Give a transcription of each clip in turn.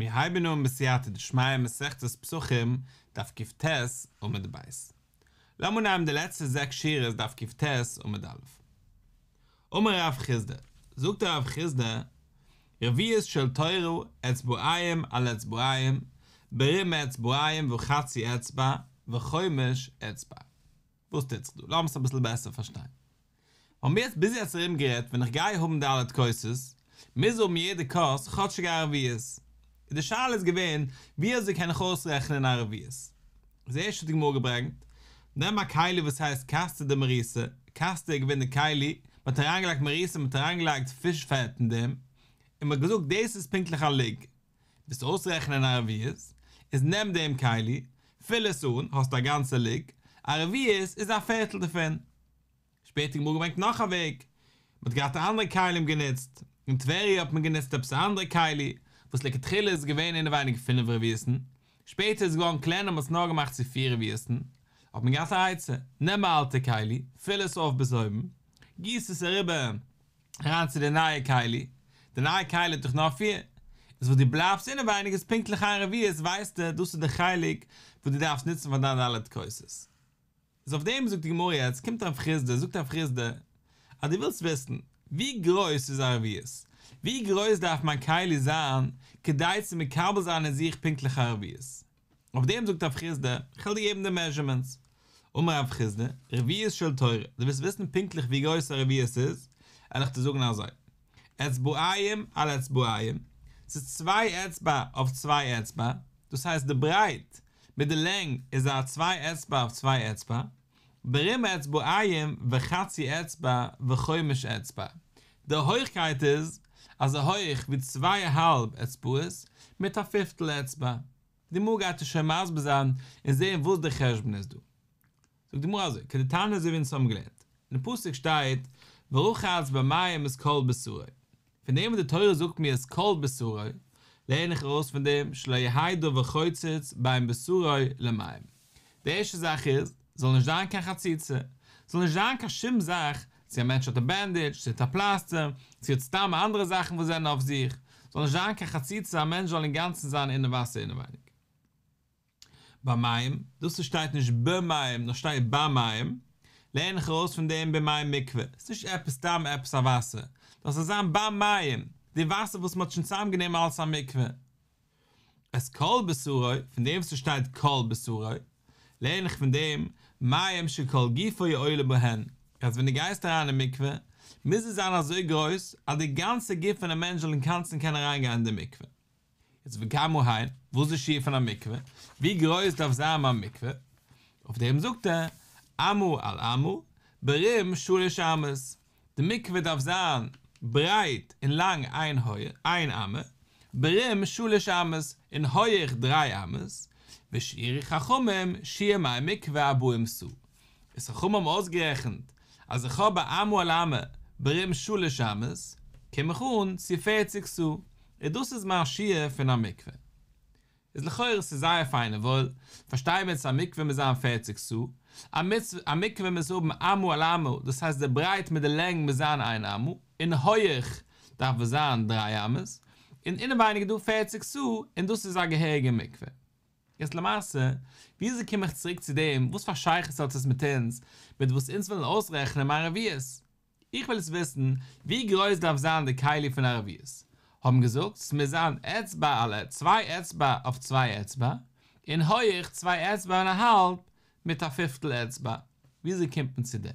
מיר הייבן אן בסייעתא דשמיא מסכת פסחים, דף קט עמוד ב'. לאמיר נעמען די לעצטע זעקס שורות דף קט עמוד א'. אמר רב חסדא, זאגט רב חסדא, רביעית של תורה אצבעיים על אצבעיים, ברום אצבעיים וחצי אצבע, וחומש אצבע. וואס טוט זיך דא? לאמיר עס אביסל בעסער פארשטיין. האבן מיר יעצט ביז יעצט ארום גערעדט ווען איך גיי האבן ד' כוסות, מוז האבן יעדע כוס כאטשיג א רביעית. און די שאלה איז געווען ווי אזוי קען איך אויסרעכענען א רביעית. איז ערשט האט די גמרא געברענגט, נעם א כלי וואס הייסט כסתא דמריסא, כסתא איז געווען די כלי, מען האט אריינגעלייגט מריסה מען האט אריינגעלייגט פיש פעט אין דעם, און מען האט געזאגט דאס איז פונקטליך א לוג. ווילסט אויסרעכענען א רביעית, איז נעם דעם כלי, פיל עס אן, האסט א גאנצע לוג, א רביעית איז א פערטל דערפון. שפעטער האט די גמרא געברענגט נאך א וועג, מען האט געהאט אנדערע כלים גענוצט, אין טבריה האט מען גענוצט עפעס א אנדערע כלי, וואס לכתחילה איז געווען אינעווייניג פינף רביעית'ן, שפעטער איז געווארן קלענער מען האט עס נאר געמאכט צו פיר רביעית'ן, האט מען געהאט א עצה, נעם א אלטע כלי, פיל עס אויף ביז אויבן, גיס עס אריבער אריין צו די נייע כלי, די נייע כלי האט דאך נאר פיר, איז וואס דו בלייבסט אינעווייניג איז פונקטליך איין רביעית, ווייסטו דאס איז די חלק וואס דו דארפסט נוצן פאר דיין ד' כוסות. איז אויף דעם זאגט די גמרא יעצט קומט רב חסדא זאגט רב חסדא אז דו ווילסט וויסן ווי גרויס איז א רביעית, ווי גרויס דארף מיין כלי זיין כדי צו מקבל זיין אין זיך פונקטליך א רביעית, אויף דעם זאגט רב חסדא איך וועל דיר געבן די מעזשערמענטס, אמר רב חסדא, רביעית של תורה, דו ווילסט וויסן פונקטליך ווי גרויס א רביעית איז, וועל איך דיר זאגן אזוי, אצבעיים על אצבעיים, ס'איז צוויי אצבע אויף צוויי אצבע, דאס הייסט די ברייט מיט די לענג איז א צוויי אצבע אויף צוויי אצבע, ברום אצבעיים וחצי אצבע וחומש אצבע, די הויכקייט איז אזוי הויך ווי צוויי אהאלב אצבעות מיט א פיפטל אצבע. די גמרא גייט עס שוין מסביר זיין און זעהן וואס די חשבון איז דא. זאגט די גמרא אזוי, כדתניא אזוי ווי אונז האבן געלערנט, אין פסוק שטייט ורחץ במים את כל בשרו, פון דעם וואס די תורה זאגט מיר את כל בשרו, לערן איך ארויס פון דעם שלא יהא דבר חוצץ בין בשרו למים. די ערשטע זאך איז, זאל נישט זיין קיין חציצה, זאל נישט זיין קיין שום זאך, צו א מענטש האט א בענדידזש, צו האט א פלאסטער, צו האט סתם אנדערע זאכן וואס זענען אויף זיך, זאל נישט זיין קיין חציצה א מענטש זאל אינגאנצן זיין אינעם וואסער אינעווייניג. במים, דאס וואס שטייט נישט במים נאר שטייט במים, לערן איך ארויס פון דעם במי מקווה, ס'איז נישט עפעס סתם עפעס א וואסער, דאס זאל זיין במים, די וואסער וואס מ'האט שוין צוזאמגענומען אלס א מקווה. את כל בשרו, פון דעם וואס ס'שטייט כל בשרו, לערן איך פון דעם, מים שכל גופו עולה בהן, אז ווען דו גייסט אריין אין מקווה, מוז עס זיין אזוי גרויס, אז די גאנצע גוף פונעם מענטש זאל אינגאנצן קענען אריינגיין אין די מקווה. יעצט וכמה הן, וואס איז די שיעור פון א מקווה? ווי גרויס דארף זיין מיין מקווה? אויף דעם זאגט ער, אמה על אמה, ברום שלש אמות, די מקווה דארף זיין ברייט און לאנג איין אמה, ברום שלש אמות, און הויעך דריי אמות, ושיערו חכמים שיעור מי מקווה ארבעים סאה. איז חכמים האבן אויסגערעכנט אז איך האב א אמה על אמה ברום שלש אמות, קום איך אן צו פערציג סאה, און דאס איז מיין שיעור פון א מקווה. איז לכאורה ס'איז זייער פיין און וואויל, פארשטיי מיר צו א מקווה מוז זיין פערציג סאה, א מקווה מוז האבן אמה על אמה, דאס הייסט די ברייט מיט די לענג מוז זיין איין אמה, און הויעך דארף עס זיין דריי אמות, און אינעווייניג איז דא פערציג סאה, און דאס איז א געהעריגע מקווה. יעצט למעשה, וויאזוי קום איך צוריק צו דעם, וואס פאר שייכות האט עס מיט אונז, מיט וואס אונז ווילן אויסרעכענען מיין רביעית? איך וויל עס וויסן, ווי גרויס דארף זיין די כלי פון א רביעית? האבן געזאגט, ס'מוז זיין אצבע על צוויי אצבע אויף צוויי אצבע, און הויעך צוויי אצבע און א האלב מיט א פיפטל אצבע. וויאזוי קומט מען צו דעם?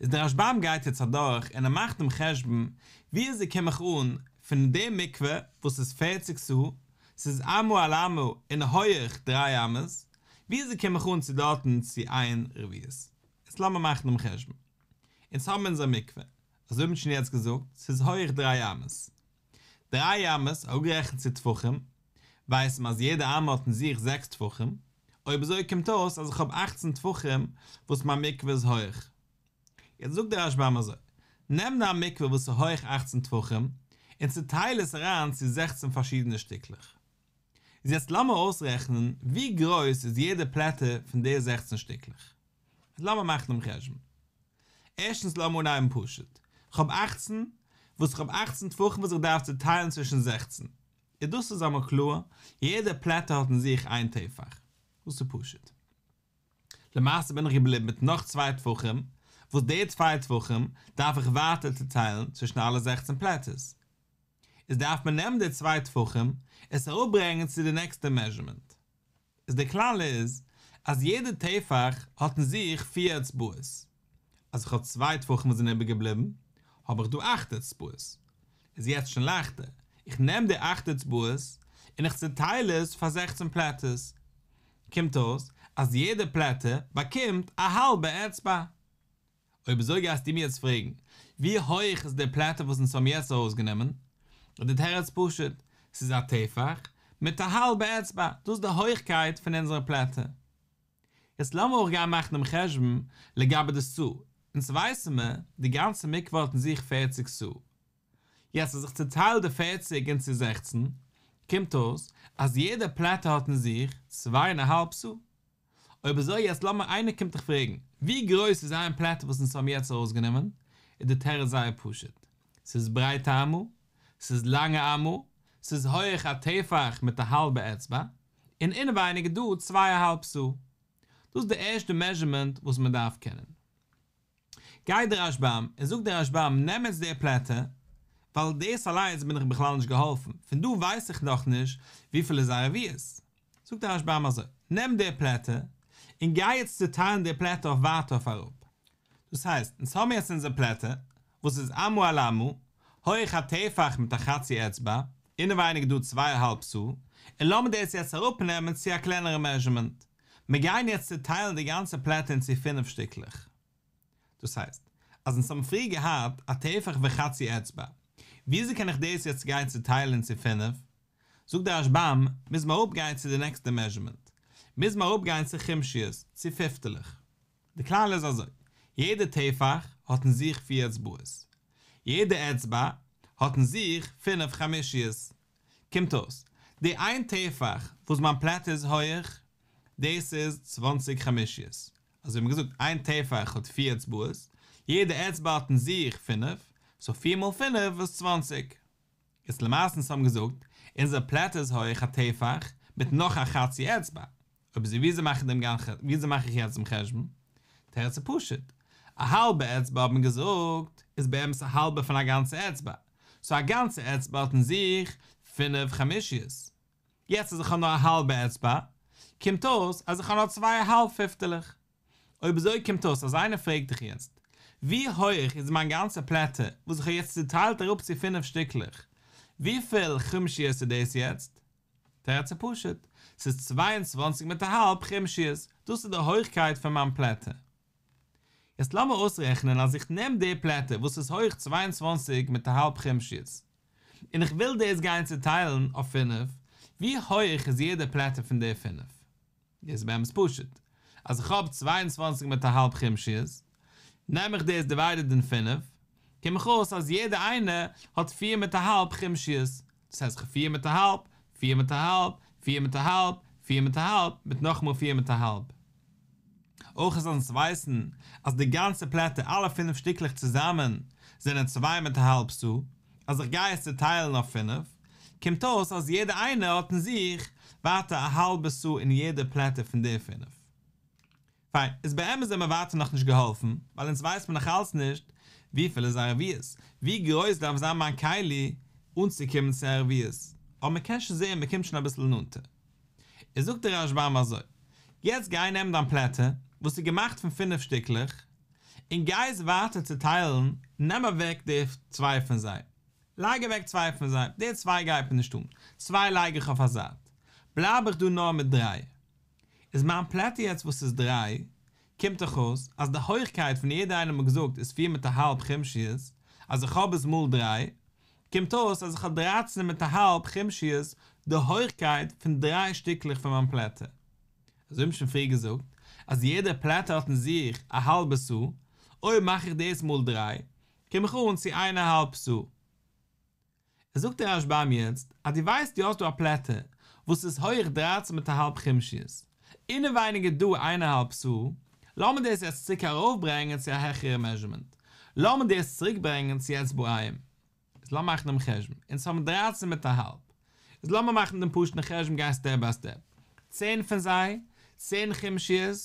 איז דער רשב"ם גייט יעצט אדורך און ער מאכט דעם חשבון, וויאזוי קום איך אן פון די מקווה וואס איז פערציג סאה, ס'איז אמה על אמה און הויעך דריי אמות, וויאזוי קום איך אן צו דארטן צו איין רביעית? יעצט לאמיר מאכן דעם חשבון. אונז האבן אונזער מקווה, אזוי האט מען שוין יעצט געזאגט, ס'איז הויעך דריי אמות. דריי אמות, אראפגערעכנט צו טפחים, ווייסט מען אז יעדע אמה האט אין זיך זעקס טפחים, אויב אזוי קומט אויס אז איך האב אכצן טפחים וואס מיין מקווה איז הויעך. יעצט זאגט דער רשב"ם אזוי, נעם דיין מקווה וואס איז הויעך אכצן טפחים, און צוטייל עס אריין צו זעכצן פארשידענע שטיקלעך. איז יעצט לאמיר אויסרעכענען ווי גרויס איז יעדע פלעטער פון די זעכצן שטיקלעך. לאמיר מאכן דעם חשבון. ערשטנס לאמיר אנהייבן פשוט. כ'האב אכצן, וואס כ'האב אכצן טפחים וואס איך דארף צוטיילן צווישן זעכצן. איז דאס איז אמאל קלאר, יעדע פלעטער האט אין זיך איין טפח. דאס איז פשוט. למעשה בין איך געבליבן מיט נאך צוויי טפחים, וואס די צוויי טפחים דארף איך ווייטער צוטיילן צווישן אלע זעכצן פלעטערס. איז דארף מען נעמען די צוויי טפחים עס אראפברענגען צו די נעקסטע מעזשערמענט. איז די כלל איז אז יעדע טפח האט אין זיך פיר אצבעות. אז איך האב צוויי טפחים וואס זענען איבערגעבליבן, האב איך דא אכט אצבעות. איז יעצט שוין לייכטער, איך נעם די אכט אצבעות און איך צוטייל עס פאר זעכצן פלעטערס. קומט אויס אז יעדע פלעטער באקומט א האלבע אצבע. אויב אזוי גייסטו מיר יעצט פרעגן, ווי הויעך איז די פלעטער וואס אונז האבן יעצט ארויסגענומען? איז די תירוץ פשוט, ס'איז א טפח מיט א האלבע אצבע, דאס איז די הויכקייט פון אונזערע פלעטער. יעצט לאמיר אויך גיין מאכן דעם חשבון לגבי די סאה, אונז ווייסן מיר, די גאנצע מקווה האט אין זיך פערציג סאה. יעצט אז איך צוטייל די פערציג אין צו זעכצן, קומט אויס אז יעדע פלעטער האט אין זיך צוויי און א האלב סאה. אויב אזוי יעצט לאמיר איינער קומט דיך פרעגן, ווי גרויס איז איין פלעטער וואס אונז האבן יעצט ארויסגענומען, איז די תירוץ זייער פשוט, ס'איז ברייט א אמה, ס'איז לאנג א אמה, ס'איז הויעך א טפח מיט א האלבע אצבע, און אינעווייניג איז דא צוויי א האלב סאה. דאס איז די ערשטע מעזשערמענט וואס מען דארף קענען. גייט דער רשב"ם און זאגט דער רשב"ם נעם יעצט די פלעטער, ווייל דאס אליינס בין איך בכלל נישט געהאלפן, פון דא ווייס איך נאכנישט וויפיל איז א רביעית. זאגט דער רשב"ם אזוי, נעם די פלעטער, און גיי יעצט צוטיילן די פלעטער אויף ווייטער אויף אראפ. דאס הייסט, אונז האבן יעצט אונזער פלעטער, וואס איז אמה על אמה, הויך א טפח מיט א חצי אצבע, אינעווייניג דא צוויי א האלב סאה, און לאמיר דאס יעצט אראפנעמען צו א קלענערע מעזשערמענט. מיר גייען יעצט צוטיילן די גאנצע פלעטער אין צו פינף שטיקלעך. דאס הייסט, אז אונז האבן פריער געהאט א טפח וחצי אצבע, וויאזוי קען איך דאס יעצט גיין צוטיילן אין צו פינף? זאגט דער רשב"ם, מוז מען אראפגיין צו די נעקסטע מעזשערמענט, מוז מען אראפגיין צו חומשיות, צו פיפטעלעך. די כלל איז אזוי, יעדע טפח האט אין זיך פיר אצבעות, יעדע אצבע האט אין זיך פינף חמישיות. קומט אויס, די איין טפח וואס מיין פלעטער איז הויעך, דאס איז צוואנציג חמישיות. אזוי ווי מ'האט געזאגט, איין טפח האט פיר אצבעות, יעדע אצבע האט אין זיך פינף, סאו פיר מאל פינף איז צוואנציג. איז למעשה אונז האבן געזאגט, אונזער פלעטער איז הויעך א טפח מיט נאך א חצי אצבע. אויב אזוי וויאזוי מאך איך דעם וויאזוי מאך איך יעצט דעם חשבון? תירוץ איז פשוט, א האלבע אצבע האט מען געזאגט איז באמת א האלבע פון א גאנצע אצבע, סאו א גאנצע אצבע האט אין זיך פינף חמישיות. יעצט אז איך האב נאר א האלבע אצבע, קומט אויס אז איך האב נאר צוויי א האלב פיפטעלעך. אויב אזוי קומט אויס אז איינער פרעגט דיך יעצט, ווי הויעך איז מיין גאנצע פלעטער וואס איך האב יעצט צוטיילט אראפ צו פינף שטיקלעך, וויפיל חומשיות איז דאס יעצט? תירוץ איז פשוט, ס'איז 22 מיט א האלב חומשיות, דאס איז די הויכקייט פון מיין פלעטער. יעצט לאמיר אויסרעכענען אז איך נעם די פלעטער וואס איז הויך 22 מיט א האלב חומשיות, און איך וויל דאס גיין צוטיילן אויף פינף, ווי הויעך איז יעדע פלעטער פון די פינף? דאס איז באמת פשוט, אז איך האב 22 מיט א האלב חומשיות, נעם איך דאס דיוויידעד אין פינף, קום איך אויס אז יעדע איינע האט פיר מיט א האלב חומשיות, דאס הייסט איך האב פיר מיט א האלב, פיר מיט א האלב, פיר מיט א האלב, פיר מיט א האלב, מיט נאכאמאל פיר מיט א האלב. אויך אז אונז ווייסן אז די גאנצע פלעטער אלע פינף שטיקלעך צוזאמען זענען צוויי מיט א האלב סאה, אז איך גיי עס צוטיילן אויף פינף, קומט אויס אז יעדע איינע האט אין זיך ווייטער א האלבע סאה אין יעדע פלעטער פון די פינף. פיין, איז באמת זעמער ווייטער נאכנישט געהאלפן, ווייל אונז ווייסט מען נאך אלץ נישט וויפיל איז א רביעית, ווי גרויס דארף זיין מיין כלי אנצוקומען צו א רביעית, אבער מען קען שוין זען מען קומט שוין אביסל נאנטער. איז זאגט דער רשב"ם אזוי, יעצט גיי נעם דיין פלעטער וואס איז געמאכט פון פינף שטיקלעך, און גיי עס ווייטער צוטיילן, נעם אוועק די צוויי פון זיי, לייג אוועק צוויי פון זיי, די צוויי גייט מיר נישט אן, צוויי לייג איך אויף א זייט, בלייב איך דא נאר מיט דריי. איז מיין פלעטער יעצט וואס איז דריי, קומט דאך אויס אז די הויכקייט פון יעדע איינעם האט מען געזאגט איז פיר מיט א האלב חומשיות, אז איך האב עס מאל דריי, קומט אויס אז איך האב דרייצן מיט א האלב חומשיות די הויכקייט פון דריי שטיקלעך פון מיין פלעטער. אזוי האבן שוין פריער געזאגט אז יעדע פלעטער האט אין זיך א האלבע סאה, אויב מאך איך דאס מאל דריי, קום איך אן צו איין א האלב סאה. זאגט דער רשב"ם יעצט אז דו ווייסט דו האסט דא א פלעטער וואס איז הויעך דרייצן מיט א האלב חומשיות, אינעווייניג איז דא איין א האלב סאה, לאמיר דאס יעצט צוריק ארויפברענגען צו א העכערע מעזשערמענט, לאמיר דאס צוריק ברענגען צו אצבעים. איז לאמיר מאכן דעם חשבון, אונז האבן דרייצן מיט א האלב. איז לאמיר מאכן דעם פשוט'ן חשבון גיין סטעפ ביי סטעפ. צען פון זיי, צען חומשיות,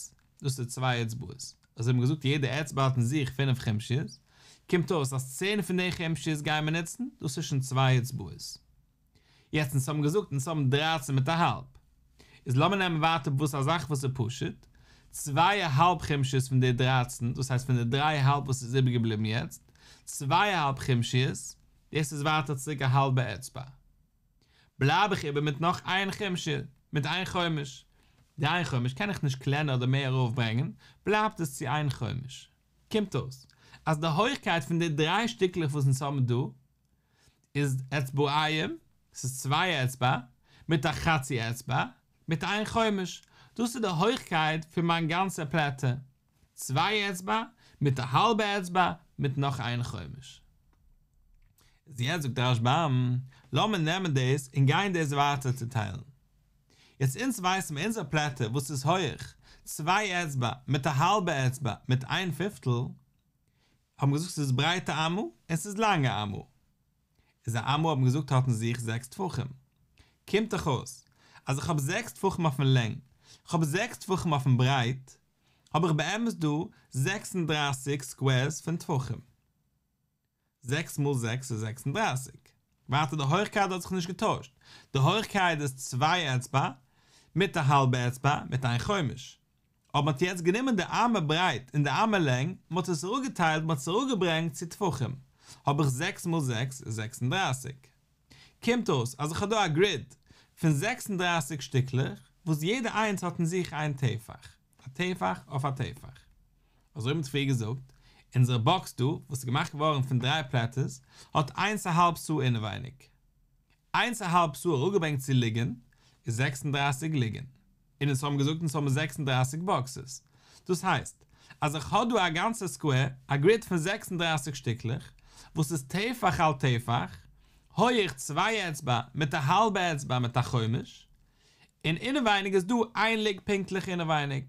דאס איז צוויי אצבעות. אזוי האבן מיר געזאגט יעדע אצבע האט אין זיך פינף חומשיות, קומט אויס אז צען פון די חומשיות גייען מיר נוצן, דאס איז שוין צוויי אצבעות. יעצט אונז האבן געזאגט אונז האבן דרייצן מיט א האלב, איז לאמיר נעמען ווייטער וואס א זאך וואס איז פשוט, צוויי א האלב חומשיות פון די דרייצן, דאס הייסט פון די דריי א האלב וואס איז איבערגעבליבן יעצט, צוויי א האלב חומשיות, דאס איז ווייטער צוריק א האלבע אצבע. בלייב איך איבער מיט נאך איין חומשא, מיט איין חומש. די איין חומש קען איך נישט קלענער אדער מער ארויפברענגען, בלייבט עס צו איין חומש. קומט אויס אז די הויכקייט פון די דריי שטיקלעך וואס אונז האבן דא איז אצבעיים, ס'איז צוויי אצבע, מיט א חצי אצבע, מיט איין חומש. דאס איז די הויכקייט פון מיין גאנצע פלעטער. צוויי אצבע, מיט א האלבע אצבע, מיט נאך איין חומש. איז יעצט זאגט רשב"ם, לאמיר נעמען דאס און גיין דאס ווייטער צוטיילן. יעצט אונז ווייסן מיר אונזער פלעטער וואס איז הויעך צוויי אצבע מיט א האלבע אצבע מיט איין פיפטל, האבן געזאגט ס'איז ברייט א אמה און ס'איז לאנג א אמה. איז א אמה האבן געזאגט האט אין זיך זעקס טפחים. קומט דאך אויס אז איך האב זעקס טפחים אויפן לענג, כ'האב זעקס טפחים אויפן ברייט, האב איך באמת דא 36 סקווערס פון טפחים. זעקס מאל זעקס איז 36. ווייטער די הויכקייט האט זיך נישט געטוישט. די הויכקייט איז צוויי אצבע מיט א האלבע אצבע מיט איין חומש. אבער מ'האט יעצט גענומען די אמה ברייט און די אמה לענג, מ'האט עס אראפגעטיילט, מ'האט עס אראפגעברענגט צו טפחים, האב איך זעקס מאל זעקס איז 36. קומט אויס אז איך האב דא א גריד פון 36 שטיקלעך, וואס יעדע איינס האט אין זיך איין טפח, א טפח אויף א טפח. אזוי ווי מ'האט פריער געזאגט, אונזער באקס דא, וואס איז געמאכט געווארן פון דריי פלעטערס, האט איינס א האלב סאה אינעווייניג. איינס א האלב סאה אראפגעברענגט צו לוגין, איז 36 לוגין. און אונז האבן געזאגט אונז האבן 36 באקסעס. דאס הייסט, אז איך האב דא א גאנצע סקווער, א גריד פון 36 שטיקלעך, וואס איז טפח על טפח, הויעך צוויי אצבע מיט א האלבע אצבע מיט א חומש, און אינעווייניג איז דא איין לוג פונקטליך אינעווייניג.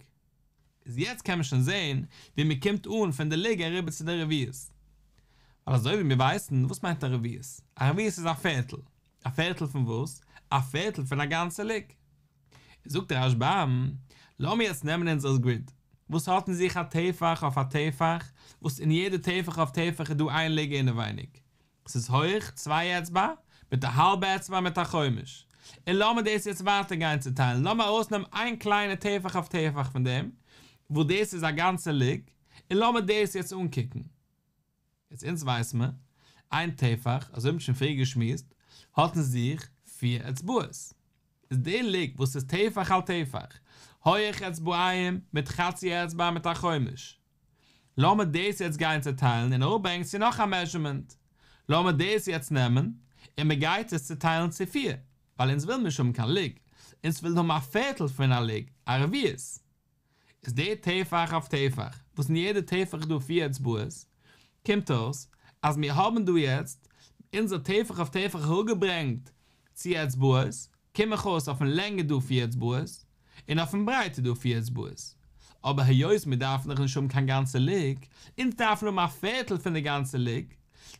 איז יעצט קען מען שוין זעהן ווי מען קומט אן פון די לוג אריבער צו די רביעית. ווייל אזוי ווי מיר ווייסן, וואס מיינט א רביעית? א רביעית איז א פערטל. א פערטל פון וואס? א פערטל פון א גאנצע לוג. זאגט דער רשב"ם, לאמיר יעצט נעמען אונזער גריד, וואס האט אין זיך א טפח אויף א טפח, וואס אין יעדע טפח אויף טפח איז דא איין לוג אינעווייניג. ס'איז הויך צוויי אצבע, מיט א האלבע אצבע מיט א חומש. און לאמיר דאס יעצט ווייטער גיין צוטיילן, לאמיר ארויסנעמען איין קליינע טפח אויף טפח פון דעם, וואס דאס איז א גאנצע לוג, און לאמיר דאס יעצט אנקוקן. יעצט אונז ווייס מיר, איין טפח, אזוי האבן מיר שוין פריער געשמועסט, האט אין זיך פיר אצבעות. איז די לוג וואס איז טפח על טפח, הויעך אצבעיים מיט חצי אצבע מיט א חומש. לאמיר דאס יעצט גיין צוטיילן און אראפברענגען צו נאך א מעזשערמענט. לאמיר דאס יעצט נעמען און מען גייט עס צוטיילן צו פיר, ווייל אונז ווילן נישט האבן קיין לוג, אונז ווילן האבן א פערטל פון א לוג, א רביעית. איז די טפח אויף טפח, וואס אין יעדע טפח איז דא פיר אצבעות, קומט אויס אז מיר האבן דא יעצט אונזער טפח אויף טפח אראפגעברענגט צו אצבעות, קום איך אויס אויפן לענג איז דא פיר אצבעות, און אויפן ברייט איז דא פיר אצבעות. אבער היות מיר דארפן דאך נישט האבן קיין גאנצע לוג, אונז דארפן האבן א פערטל פון די גאנצע לוג,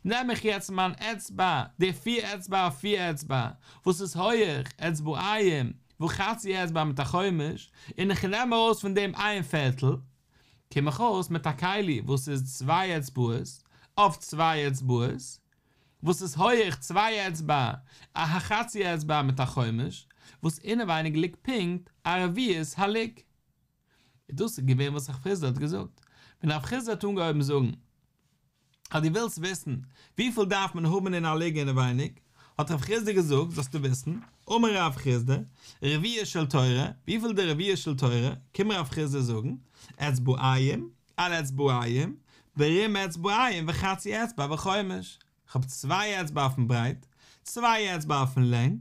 נעם איך יעצט מיין אצבע, די פיר אצבע אויף פיר אצבע, וואס איז הויעך, אצבעיים, וחצי אצבע מיט א חומש, און איך נעם ארויס פון דעם איין פערטל, קום איך אויס מיט א כלי וואס איז צוויי אצבעות אויף צוויי אצבעות, וואס איז הויעך צוויי אצבע, א חצי אצבע מיט א חומש, וואס אינעווייניג ליגט פונקט א רביעית הלוג. און דאס איז געווען וואס רב חסדא האט געזאגט. ווען רב חסדא האט אנגעהויבן זאגן אז דו ווילסט וויסן וויפיל דארף מען האבן אין א לוג אינעווייניג, האט רב חסדא געזאגט, זאלסטו וויסן, אמר רב חסדא, רביעה של תורה, וויפיל די רביעה של תורה, קומט רב חסדא זאגן, אצבעיים, על אצבעיים, ברום אצבעיים וחצי אצבע וחומש, כ'האב צוויי אצבע אויפן ברייט, צוויי אצבע אויפן לענג,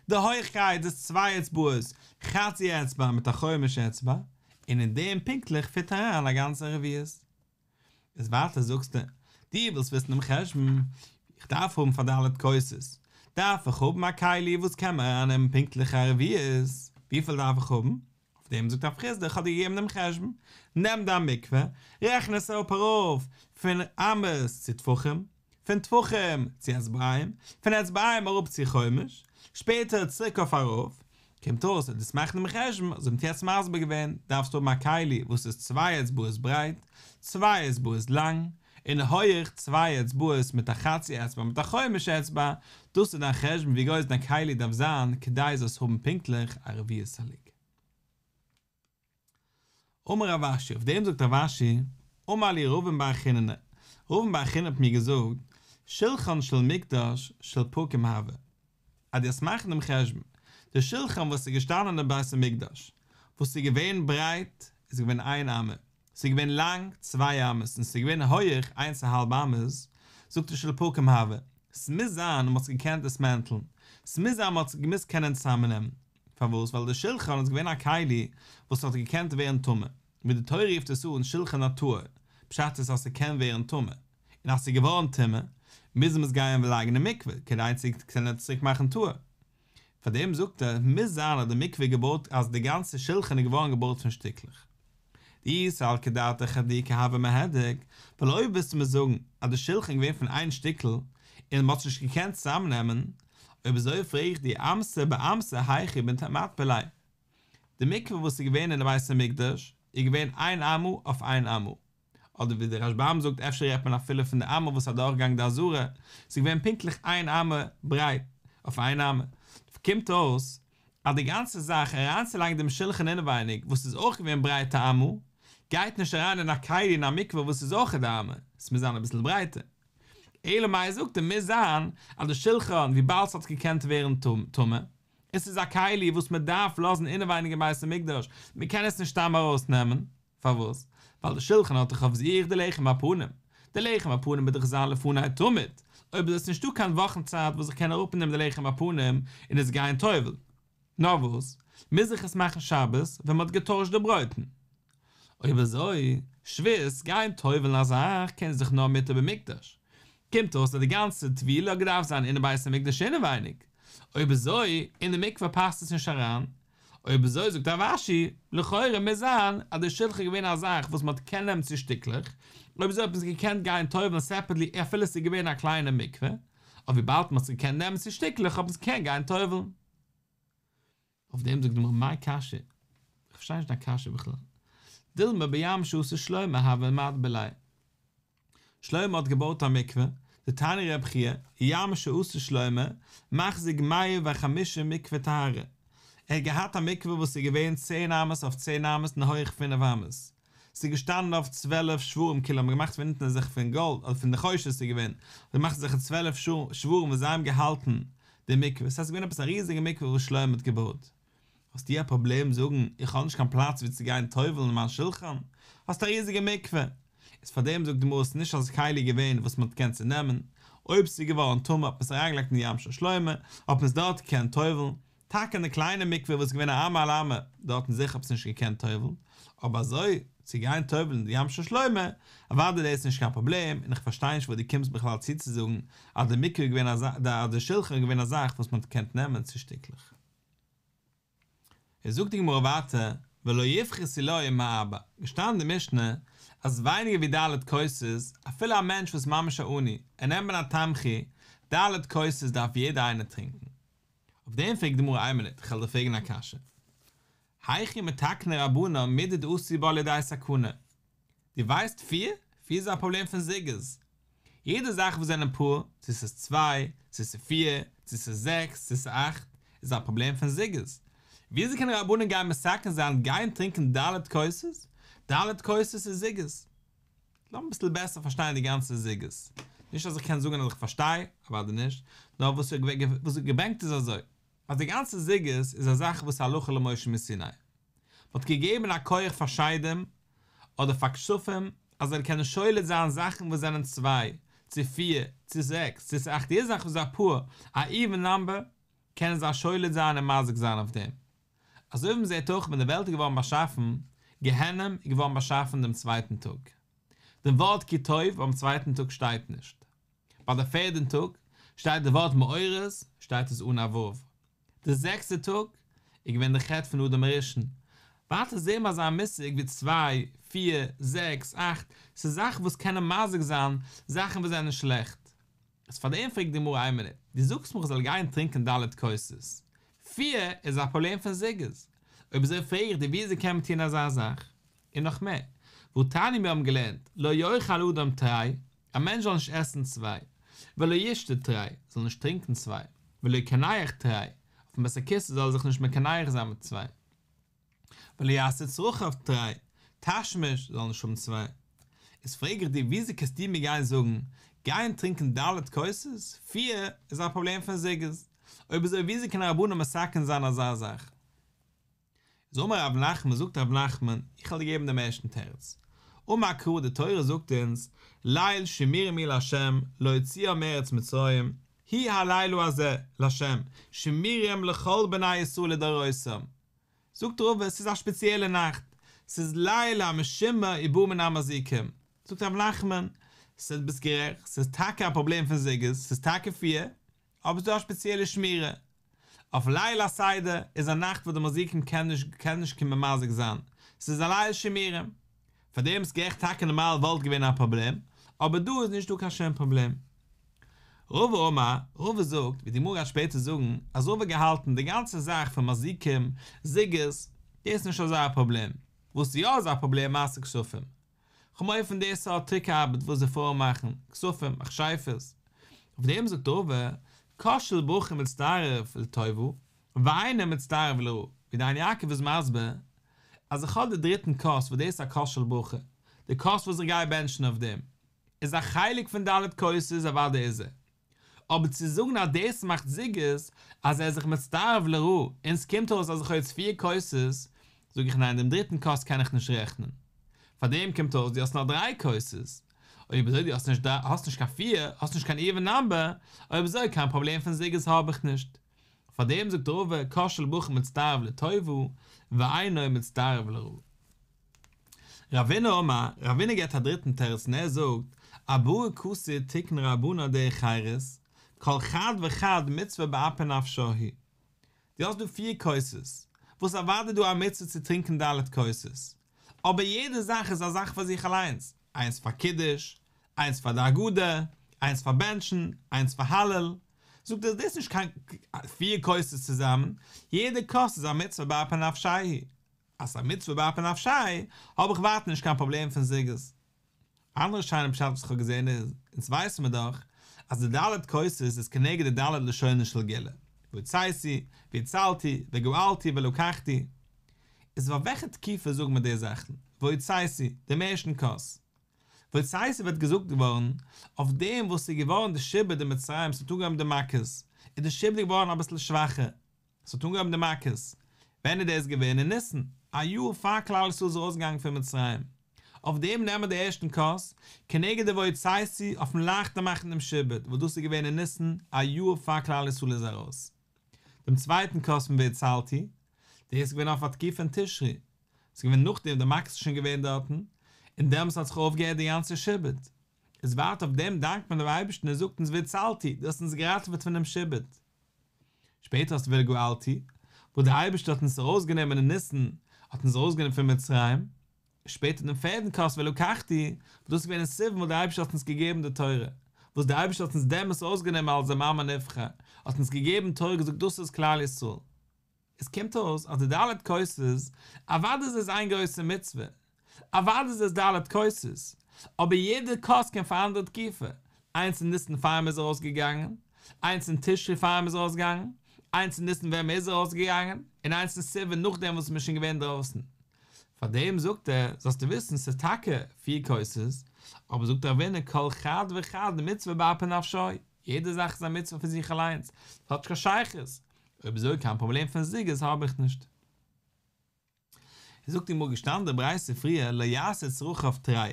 די הויכקייט איז צוויי אצבעות, חצי אצבע מיט א חומש אצבע, און אין דעם פונקטליך פיט אריין א גאנצע רביעית. איז ווייטער זאגסטו, דו ווילסט וויסן דעם חשבון, איך דארף האבן פאר ד' כוסות, דארף איך האבן א כלי וואס קען מיר ארייננעמען פונקטליך א רביעית, וויפיל דארף איך האבן? אויף דעם זאגט רב חסדא, איך האב דיר געגעבן דעם חשבון, נעם דיין מקוה, רעכן עס אפ ארויף פון אמות צו טפחים, פון טפחים צו אצבעים, פון אצבעים אראפ צו חומש, שפעטער צוריק אויף ארויף, קומט אויס אז דו'סט מאכן דעם חשבון, אזוי ווי מ'האט יעצט מסביר געווען, דארפסטו האבן א כלי וואס איז צוויי אצבעות ברייט, צוויי אצבעות לאנג, און הויעך צוויי אצבעות מיט א חצי אצבע מיט א חומש אצבע, דאס איז דיין חשבון ווי גרויס דיין כלי דארף זיין כדי זאלסט האבן פונקטליך א רביעית הלוג. אמר רב אשי, אויף דעם זאגט רב אשי, אמר לי רבין בר חיננא, רבין בר חיננא האט מיר געזאגט, שלחן של מקדש של פרקים הוה, אז דו וועסט מאכן דעם חשבון, די שלחן וואס איז געשטאנען אין בית המקדש, וואס איז געווען ברייט, איז געווען איין אמה, ס'איז געווען לאנג צוויי אמות און ס'איז געווען הויעך איינס א האלב אמות, זאגט ער של פרקים הוה, ס'מוז זיין מ'האט עס געקענט דיסמענטלן, ס'מוז זיין מ'האט עס געמוזט קענען צוזאמנעמען, פארוואס? ווייל די שלחן איז געווען א כלי וואס האט געקענט ווערן טמא, ווי די תורה רופט עס אן שלחן הטהור, פשט איז אז ס'קען ווערן טמא, און אז ס'איז געווארן טמא, מוז מען עס גייען לייגן אין מקווה כדי צו קענען צוריק מאכן טהור. פאר דעם זאגט ער, מוז זיין אז די מקווה איז געבויט אז די גאנצע שלחן איז געווארן געבויט פון שטיקלעך. דאי סלקא דעתך מהדוקי הוה מיהדק, ווייל אויב וועסטו מיר זאגן אז די שלחן איז געווען פון איין שטיקל און מ'האט עס נישט געקענט צוזאמנעמען, אויב אזוי פרעג איך דיר אמתא באמתא היכי מטביל ליה. די מקווה וואס איז געווען אין די בית המקדש איז געווען איין אמה אויף איין אמה, אדער ווי דער רשב"ם זאגט אפשר רעדט מען אפילו פון די אמה וואס איז אדורכגעגאנגען די עזרה, ס'איז געווען פונקטליך איין אמה ברייט אויף איין אמה, קומט אויס אז די גאנצע זאך אריינצולייגן דעם שלחן אינעווייניג וואס איז אויך געווען ברייט א אמה, גייט נישט אריין אין א כלי אין א מקווה וואס איז אויך די אמה, עס מוז זיין אביסל ברייטער. אלא מאי זאגט ער מוז זיין אז די שלחן וויבאלד ס'האט געקענט ווערן טמא, עס איז א כלי וואס מען דארף לאזן אינעווייניג אין בית המקדש, מען קען עס נישט סתם ארויסנעמען, פארוואס? ווייל די שלחן האט דאך אויף זיך די לחם הפנים, די לחם הפנים מוז דאך זיין לפני תמיד, אויב איז עס נישטא קיין וואכן צייט וואס איך קען אראפנעמען די לחם הפנים און עס גיין טובל'ן, נאר וואס, מוז איך עס מאכן שבת ווען מען האט געטוישט די ברויטן. אויב אזוי, שבות, גיין טובל'ן א זאך קען זיך נאר מותר במקדש. קומט אויס אז די גאנצע טבילה האט געדארפט זיין אינעם בית המקדש אינעווייניג. אויב אזוי, אין די מקווה פאסט עס נישט אריין. אויב אזוי זאגט רב אשי, לכאורה מוז זיין אז די שלחן איז געווען א זאך וואס מען האט געקענט נעמען צו שטיקלעך, אויב אזוי האט מען עס געקענט גיין טובל'ן סעפערטלי אפילו עס איז געווען א קליינע מקווה, אבער וויבאלד מען האט עס געקענט נעמען צו שטיקלעך האט מען עס געקענט גיין טובל'ן. אויף דעם זאגט די גמרא מאי קשיא? איך פארשטיי נישט דיין קשיא בכלל. דילמא בים שעשה שלמה הוה מטביל ליה. שלמה האט געבויט א מקווה, דתני רב חייא, ים שעשה שלמה, מחזיק מאה וחמישים מקווה טהרה. ער האט געהאט א מקווה וואס איז געווען צען אמות אויף צען אמות און הויעך פינף אמות. ס'איז געשטאנען אויף צוועלף שוורים כאילו האבן געמאכט פון אונטן אזעלכע פון גאלד אדער פון נחושת איז געווען, האט געמאכט אזעלכע צוועלף שוורים וואס זיי האבן געהאלטן די מקווה, ס'הייסט ס'איז געווען עפעס א ריזיגע מקווה וואס שלמה האט געבויט. האסטו א פראבלעם זאגן איך האב נישט קיין פלאץ ווי צו גיין טובל'ן מיין שולחן? האסט א ריזיגע מקווה. איז פאר דעם זאגט די גמרא ס'איז נישט אזא כלי געווען וואס מ'האט געקענט צונעמען, אויב ס'איז געווארן טמא האט מען עס אריינגעלייגט אין ים של שלמה, האט מען עס דארט געקענט טובל'ן, טאקע אין די קליינע מקווה וואס איז געווען א אמה על אמה, דארטן זיכער האט מען עס נישט געקענט טובל'ן, אבער אזוי צו גיין טובל'ן אין די ים של שלמה, אוודאי דאס איז נישט קיין פראבלעם, און איך פארשטיי נישט וואס דו קומסט בכלל צו צו זאגן אז די מקווה איז געווען א זאך, אז די שולחן איז געווען א זאך וואס מען האט געקענט נעמען צו שטיקלעך. איז זאגט די גמרא ווייטער, ולא יפחתו לו מארבע, געשטאנען אין די משנה אז ווייניגער ווי ד' כוסות, אפילו א מענטש וואס איז ממש א עני, ער נעמט מן התמחוי, ד' כוסות דארף יעדער איינער טרינקען. אויף דעם פרעגט די גמרא איין מינוט, כ'על דיר פרעגן א קשיא. היכי מתקני רבנן מידי דאתו בה לידי סכנה? דו ווייסט פיר? פיר איז א פראבלעם פון זוגות. יעדע זאך וואס זענען פאר, צו ס'איז צוויי, צו ס'איז פיר, צו ס'איז זעקס, צו ס'איז אכט, איז א פראבלעם פון זוגות. וויאזוי קענען רבנן גיין מתקן זיין גיין טרינקען ד' כוסות? ד' כוסות איז זוגות. לאמיר אביסל בעסער פארשטיין די גאנצע זוגות. נישט אז איך קען זאגן אז איך פארשטיי, אוודאי נישט, נאר וואס איך געברענגט איז אזוי, אז די גאנצע זוגות איז א זאך וואס הלכה למשה מסיני. מ'האט געגעבן א כח פאר שדים אדער פאר כשפים אז זיי קענען שולט זיין זאכן וואס זענען צוויי, צו פיר, צו זעקס, צו אכט, יעדע זאך וואס איז א פאר, א איווען נאמבער, קענען זיי שולט זיין און מזיק זיין אויף דעם. אזוי ווי מ'זעט אויך ווען די וועלט איז געווארן באשאפן, גיהנום איז געווארן באשאפן דעם צווייטן טאג. דעם ווארט כי טוב ביים צווייטן טאג שטייט נישט. ביי די פערדן טאג שטייט די ווארט מאורות שטייט עס אן א ו'. די זעקסטע טאג איז געווען די חטא פון אדם הראשון. ווייטער זעהן מיר אזא מושג ווי צוויי, פיר, זעקס, אכט, ס'איז זאכן וואס קענען מזיק זיין, זאכן וואס זענען שלעכט. איז פאר דעם פרעגט די גמרא איין מינוט, דו זאגסט מיר איך זאל גיין טרינקען ד' כוסות, פיר איז א פראבלעם פון זוגות, אויב אזוי פרעג איך דיר וויאזוי קען מען טון אזא זאך? און נאך מער, והתניא מיר האבן געלערנט, לא יאכל אדם תרי, א מענטש זאל נישט עסן צוויי, ולא ישתה תרי, זאל נישט טרינקען צוויי, ולא יקנח תרי, אויפן בית הכסא זאל ער זיך נישט מקנח זיין מיט צוויי. ולא יעשה צרכיו תרי, תשמיש זאל נישט האבן צוויי. איז פרעג איך דיר וויאזוי קענסטו מיר גיין זאגן, גיין טרינקען ד' כוסות, פיר איז א פראבלעם פון זוגות, אויב אזוי וויאזוי קען רבנן מתקן זיין אזא זאך? איז אמר רב נחמן, זאגט רב נחמן, איך וועל דיר געבן דעם ערשטן תירוץ. אמר קרא, די תורה זאגט אונז, ליל שימורים הוא לה' להוציאם מארץ מצרים, הוא הלילה הזה לה', שימורים לכל בני ישראל לדורותם. זאגט רבא, ס'איז א שפעציעלע נאכט, ס'איז ליל המשומר ובא מן המזיקים. זאגט רב נחמן, ס'איז ביסט גערעכט, ס'איז טאקע א פראבלעם פון זוגות, ס'איז טאקע פיר, אבער ס'איז דא א שפעציעלע שמירה. אויף ליל הסדר איז א נאכט וואס די מזיקים קען נישט קען נישט קומען מזיק זיין, ס'איז א ליל שימורים. פאר דעם איז גערעכט טאקע נארמאל וואלט געווען א פראבלעם, אבער דא איז נישט דא קיין שום פראבלעם. רבא אמר, רבא זאגט, ווי די גמרא גייט שפעטער זאגן, אז רבא האט געהאלטן די גאנצע זאך פון מזיקים, זוגות, דאס איז נישט אזא פראבלעם, וואס יא איז א פראבלעם מעשה כשפים. כ'האב מורא פון די סארט טריק ארבעט וואס די פרויען מאכן, כשפים, מכשפות. אויף דעם זאגט רבא, כוס של ברכה מצטרף לטובה, ואינו מצטרף לרעה, ווי די עין יעקב איז מסביר, אז איך האב די דריטן כוס וואס דאס איז א כוס של ברכה, די כוס וואס איך גיי בענטשן אויף דעם, איז א חלק פון ד' כוסות אוודאי איז ער. אבער צו זאגן אז דאס מאכט זוגות אז ער איז זיך מצטרף לרעה און ס'קומט אויס אז איך האב יעצט פיר כוסות, זאג איך ניין דעם דריטן כוס קען איך נישט רעכענען. פאר דעם קומט אויס דו האסט נאר דריי כוסות. אויב אזוי דו האסט נישט האסט נישט קיין פיר, האסט נישט קיין איווען נאמבער, אויב אזוי קיין פראבלעם פון זוגות האב איך נישט. פאר דעם זאגט רבא כוס של ברכה מצטרף לטובה ואינו מצטרף לרעה. רבינא אמר, רבינא געבט א דריטן תירוץ און ער זאגט, ארבעה כסי תיקון רבנן דרך חירות, כל חד וחד מצוה באפי נפשה הוא. דו האסט דא פיר כוסות, וואס אוודאי דא א מצוה צו טרינקען ד' כוסות, אבער יעדע זאך איז א זאך פאר זיך אליינס, איינס פאר קידוש, איינס פאר די הגדה, איינס פאר בענטשן, איינס פאר הלל, זאגט ער דאס איז נישט קיין פיר כוסות צוזאמען, יעדע כוס איז א מצוה באפי נפשה הוא. אז ס'איז א מצוה באפי נפשיה, האב איך ווייטער נישט קיין פראבלעם פון זוגות. אנדערע שיינע פשט וואס איך האב געזען איז, אונז ווייסן מיר דאך אז די ד' כוסות איז כנגד די ד' לשונות של גאולה, והוצאתי, והצלתי, וגאלתי, ולקחתי. איז פאר וועלכע תקופה זאגן מיר די זאכן? והוצאתי, דעם ערשטן כוס. והוצאתי ווערט געזאגט געווארן אויף דעם וואס ס'איז געווארן די שעבוד אין מצרים, ס'האט אנגעהויבן די מכות, איז די שעבוד געווארן אביסל שוואכער, עס האט אנגעהויבן די מכות, ווען איז דאס געווען? אין ניסן, א יאר פאר כלל ישראל איז ארויסגעגאנגען פון מצרים. אויף דעם נעמען מיר די ערשטן כוס, כנגד די והוצאתי אויפן לייכטער מאכן דעם שעבוד, וואס דאס איז געווען אין ניסן, א יאר פאר כלל ישראל איז ארויס. דעם צווייטן כוס פון והצלתי, דאס איז געווען אויף א תקופה אין תשרי, עס איז געווען נאכדעם די מכות איז שוין געווען דארטן, און דעמאלס האט זיך אויפגעהערט די גאנצע שעבוד. איז ווייטער אויף דעם דאנקט מען דעם אייבערשטן און זאגט אונז והצלתי, דו האסט אונז געראטעוועט פון דעם שעבוד. שפעטער האסטו וגאלתי, וואס דער אייבערשטער האט אונז ארויסגענומען אין ניסן, האט אונז ארויסגענומען פון מצרים, שפעטער דעם פערדן כוס ולקחתי, וואס דאס איז געווען אין סיוון וואס דער אייבערשטער האט אונז געגעבן די תורה, וואס דער אייבערשטער האט אונז דעמאלס ארויסגענומען אלס דעם עם הנבחר, האט אונז געגעבן תורה געזאגט דאס איז כלל ישראל. עס קומט אויס אז די ד' כוסות, אוודאי איז עס איין גרויסע מצוה, אוודאי איז עס ד' כוסות, אבער יעדע כוס קען פאר א אנדערע תקופה, איינס אין ניסן פאר מ'איז ארויס געגאנגען, איינס אין תשרי פאר מ'איז ארויס געגאנגען, איינס אין ניסן ווען מ'איז ארויס געגאנגען, און איינס אין סיוון נאכדעם וואס מ'איז שוין געווען דרויסן. פאר דעם זאגט ער, זאלסטו וויסן ס'איז טאקע פיר כוסות, אבער זאגט רבינא כל חד וחד מצוה באפי נפשיה, יעדע זאך איז א מצוה פאר זיך אליינס, ס'האט נישט קיין שייכות, אויב אזוי קיין פראבלעם פון זוגות האב איך נישט. זאגט די גמרא געשטאנען די ברייתא פריער לא יעשה צרכיו תרי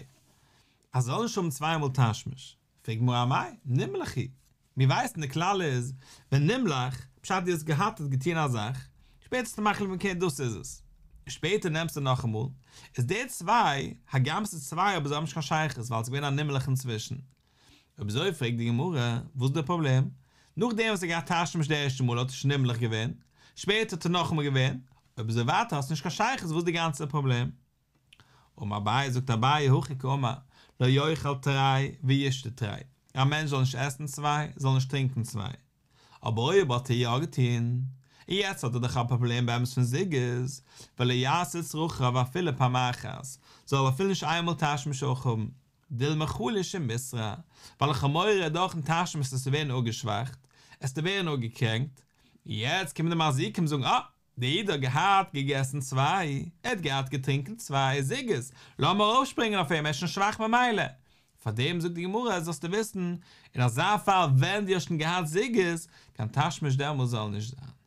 אז זאל נישט האבן צוויי מאל תשמיש, פרעגט גמרא אמאי נמלך הוא, מיר ווייסן די כלל איז ווען נמלך, פשט דו האסט געהאט האט געטון א זאך, שפעטער האסטו מחליט געווען אקעי דאס איז עס, און שפעטער נעמסטו נאכאמאל, איז די צוויי, הגם ס'איז צוויי אבער זיי האבן נישט קיין שייכות ווייל ס'איז געווען א נמלך אינצווישן, אויב אזוי פרעגט די גמרא, וואס איז דער פראבלעם? נאכדעם וואס ער האט געהאט תשמיש די ערשטע מאל האט ער שוין נמלך געווען, שפעטער האט ער נאכאמאל געווען, אויב אזוי ווייטער האסטו נישט קיין שייכות וואס איז די גאנצע פראבלעם? אמר אביי זאגט אביי הכי קאמר, לא יאכל תרי וישתה תרי. א מענטש זאל נישט עסן צוויי, זאל נישט טרינקען צוויי. אבער אויב האט ער יא געטון, און יעצט האט ער דאך א פראבלעם באמת פון זוגות, ולא יעשה צרכיו אפילו פעם אחת, זאל ער אפילו נישט איינמאל תשמיש אויך האבן, דילמא חליש ומיתרע, ווייל איך האב מורא דורכ'ן תשמיש עסטו ווערן אפגעשוואכט, עסטו ווערן אפגעקרענקט, יעצט קומען די מזיקים זאגן אה, דער איד האט געהאט געגעסן צוויי, ער האט געהאט געטרינקען צוויי זוגות, לאמיר ארויפשפרינגען אויף אים, ער איז שוין שוואך ממילא. פאר דעם זאגט די גמרא, זאלסטו וויסן, אין אזא פאל ווען דו האסט שוין געהאט זוגות, קיין תשמיש דעמאלס זאל נישט זיין.